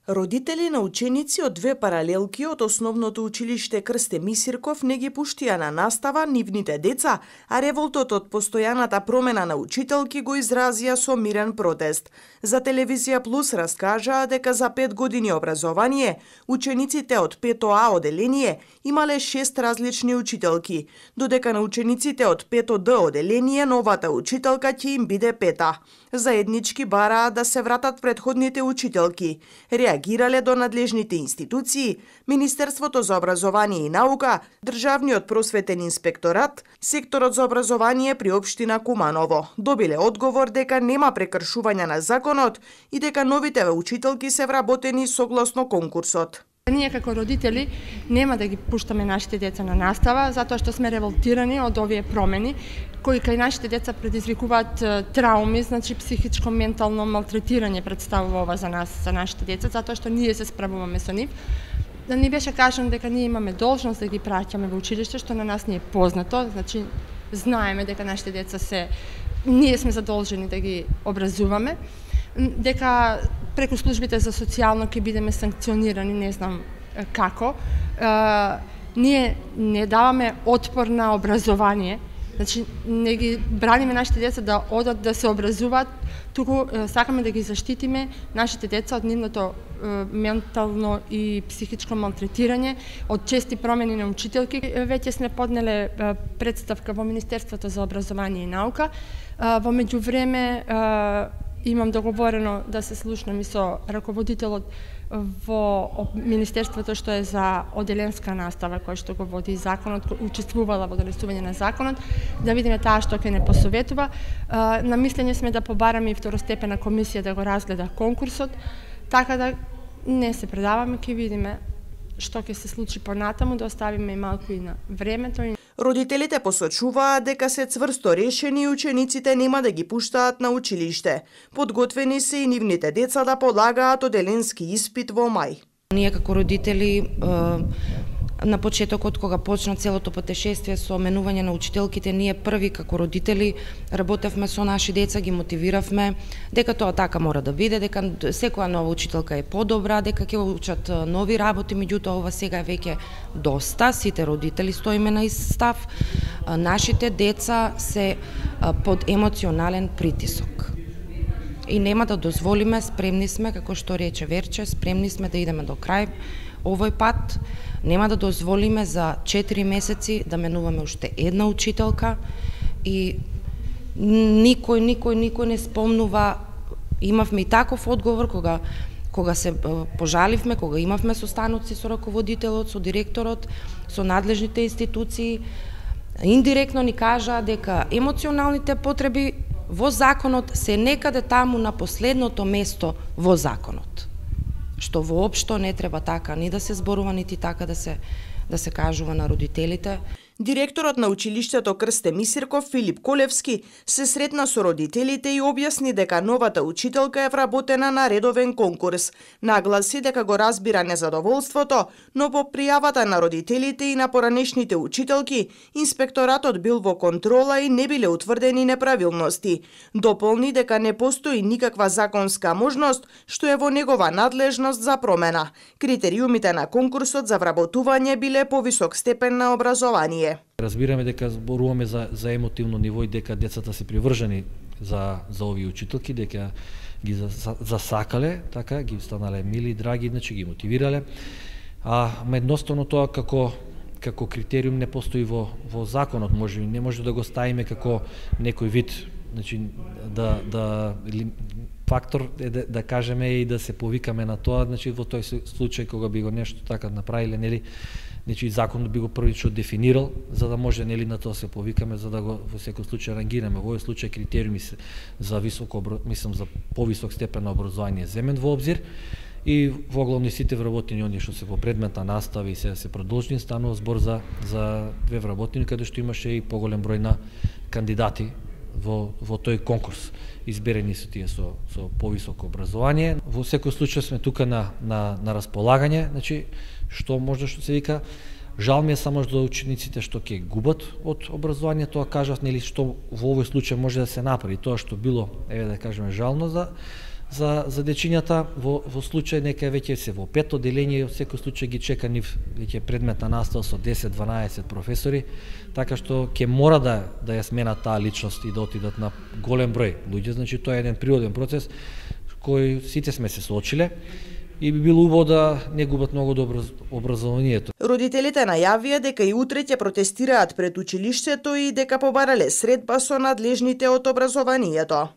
Родители на ученици од две паралелки од основното училиште Крсте Мисирков не ги пуштија на настава нивните деца, а револтот од постојаната промена на учителки го изразија со мирен протест. За Телевизија Плюс раскажаа дека за 5 години образование, учениците од 5А оделение имале 6 различни учителки, додека на учениците од 5Д оделение новата учителка ќе им биде 5А. Заеднички бараа да се вратат предходните учителки. Реагирале до надлежните институции, Министерството за образование и наука, Државниот просветен инспекторат, секторот за образование при општина Куманово. Добиле одговор дека нема прекршување на законот и дека новите учителки се вработени согласно конкурсот. Ние како родители нема да ги пуштаме нашите деца на настава, затоа што сме револтирани од овие промени, кои кај нашите деца предизвикуваат трауми, значи психичко, ментално малтретирање представува ова за нас, за нашите деца, затоа што ние се справуваме со нив. Да ни беше кажано дека ние имаме должност да ги праќаме во училиште, што на нас не е познато, значи знаеме дека нашите деца ние сме задолжени да ги образуваме, дека преку службите за социјално ќе бидеме санкционирани, не знам како. Ние не даваме отпор на образование, значи не ги браниме нашите деца да одат да се образуваат, туку сакаме да ги заштитиме нашите деца од нивното ментално и психичко малтретирање, од чести промени на учителки. Веќе сме поднеле представка во Министерството за образование и наука. Во меѓувреме имам договорено да се слушнам и со раководителот во Министерството што е за оделенска настава, кој што го води законот, учествувала во донесување на законот, да видиме таа што ќе не посоветува. На мислење сме да побараме и второстепена комисија да го разгледа конкурсот, така да не се предаваме, ќе видиме што ќе се случи понатаму, да оставиме и малку и на времето. Родителите посочуваа дека се цврсто решени и учениците нема да ги пуштаат на училиште. Подготвени се и нивните деца да полагаат оделенски испит во мај. Ние како родители на почетокот кога почна целото патешествие со менување на учителките, ние први како родители работевме со наши деца, ги мотивиравме дека тоа така мора да биде, дека секоја нова учителка е подобра, дека ќе учат нови работи, меѓутоа ова сега е веќе доста, сите родители стоиме на ист став. Нашите деца се под емоционален притисок. И нема да дозволиме, спремни сме, како што рече Верче, спремни сме да идеме до крај овој пат. Нема да дозволиме за 4 месеци да менуваме уште една учителка и никој не спомнува. Имавме и таков одговор кога се пожаливме, кога имавме состаноци со раководителот, со директорот, со надлежните институции. Индиректно ни кажаа дека емоционалните потреби во законот се некаде таму на последното место во законот, што воопшто не треба така ни да се зборува, нити така да се кажува на родителите. Директорот на училиштето Крсте Мисирков Филип Колевски се сретна со родителите и објасни дека новата учителка е вработена на редовен конкурс. Нагласи дека го разбира незадоволството, но по пријавата на родителите и на поранешните учителки, инспекторатот бил во контрола и не биле утврдени неправилности. Дополни дека не постои никаква законска можност што е во негова надлежност за промена. Критериумите на конкурсот за вработување биле повисок степен на образование. Разбираме дека зборуваме за емотивно ниво и дека децата се привржени за овие учителки, дека ги засакале, така ги станале мили, драги, значи ги мотивирале. Едноставно тоа како критериум не постои во законот, не може да го ставиме како некој вид, значи фактор е да кажеме и да се повикаме на тоа, значи во тој случај кога би го нешто така направиле, нели, значи законот би го првично дефинирал, за да може нели на тоа се повикаме, за да го во секој случај рангираме. Во овој случај критериуми се за за повисок степен на образование земен во обзир и во главни сите вработени оние што се во предмет на настава и се продолжни, станува збор за две вработени каде што имаше и поголем број на кандидати во тој конкурс. Изберени се тие со повисоко образование. Во секој случај сме тука на располагање, значи што може што се вика. Жал ми е само за учениците што ќе губат од образование, тоа кажав, нели, што во овој случај може да се направи, тоа што било, еве да кажеме, жално за дечињата. Во случај нека веќе се во 5 одделение, секој случај ги чека нив веќе предметна настава со 10-12 професори, така што ќе мора да ја сменат таа личност и да отидат на голем број луѓе. Значи тоа е еден природен процес кој сите сме се соочиле и би било убаво да не губат многу добро образованието. Родителите најавија дека и утре ќе протестираат пред училиштето и дека побарале средба со надлежните од образованието.